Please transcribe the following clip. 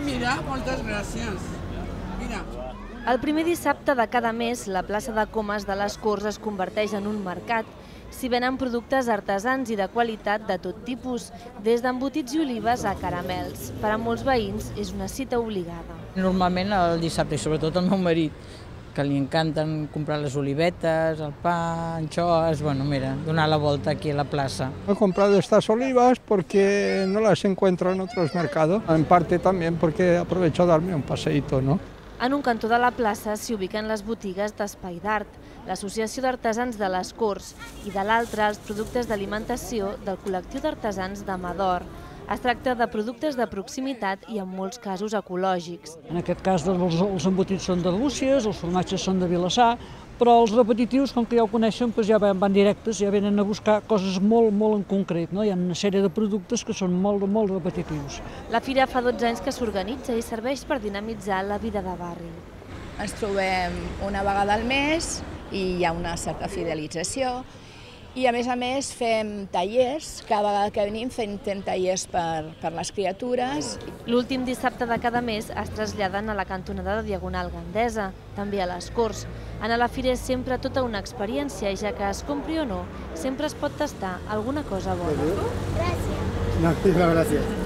mira, moltes gràcies. Mira. El primer dissabte de cada mes, la plaça de Comes de les Corts es converteix en un mercat. S'hi venen productes artesans i de qualitat de tot tipus, des d'embotits i olives a caramels. Per a molts veïns és una cita obligada. Normalment el dissabte, i sobretot el meu marit, que li encanten comprar les olivetes, el pa, anxoes, bueno, mira, donar la volta aquí a la plaza. He comprado estas olivas porque no las encuentro en otros mercados, en parte también porque aprovecho a darme un paseíto, ¿no? En un cantó de la plaça s'hi ubiquen les botigues d'Espai d'Art, l'Associació d'Artesans de les Corts i de l'altra els productes d'alimentació del col·lectiu d'artesans de Mador. Es tracta de productes de proximitat i en molts casos ecològics. En aquest cas els embotits són d'Arbúcies, els formatges són de Vilassar, però els repetitius, com que ja ho coneixen, ja van directes, ja venen a buscar coses molt en concret. Hi ha una sèrie de productes que són molt repetitius. La fira fa 12 anys que s'organitza i serveix per dinamitzar la vida de barri. Ens trobem una vegada al mes i hi ha una certa fidelització. I a més fem tallers, cada vegada que venim fem tallers per les criatures. L'últim dissabte de cada mes es traslladen a la cantonada de Diagonal Gandesa, també a les Corts. Anar a la fira és sempre tota una experiència, ja que es compri o no, sempre es pot tastar alguna cosa bona. Gràcies. No, gràcies.